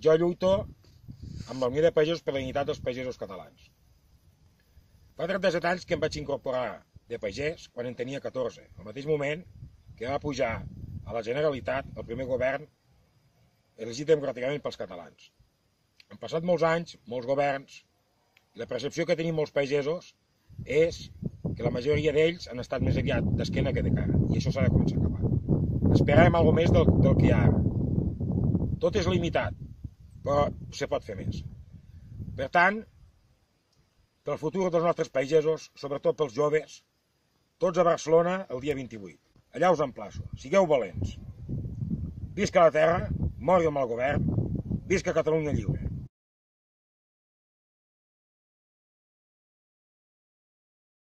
Jo lluito amb la Unió de Pagesos per la dignitat dels pagesos catalans. Fa 37 anys que em vaig incorporar de pagès quan en tenia 14, al mateix moment que va pujar a la Generalitat el primer govern elegit democràticament pels catalans. Han passat molts anys, molts governs, i la percepció que tenim molts pagesos és que la majoria d'ells han estat més aviat d'esquena que de cara, i això s'ha de començar a acabar. Esperàvem alguna més del que hi ha ara. Tot és limitat, però se pot fer més. Per tant, pel futur dels nostres pagesos, sobretot pels joves, tots a Barcelona el dia 28. Allà us emplaço, sigueu valents. Visca la terra, mori el mal govern, visca Catalunya lliure.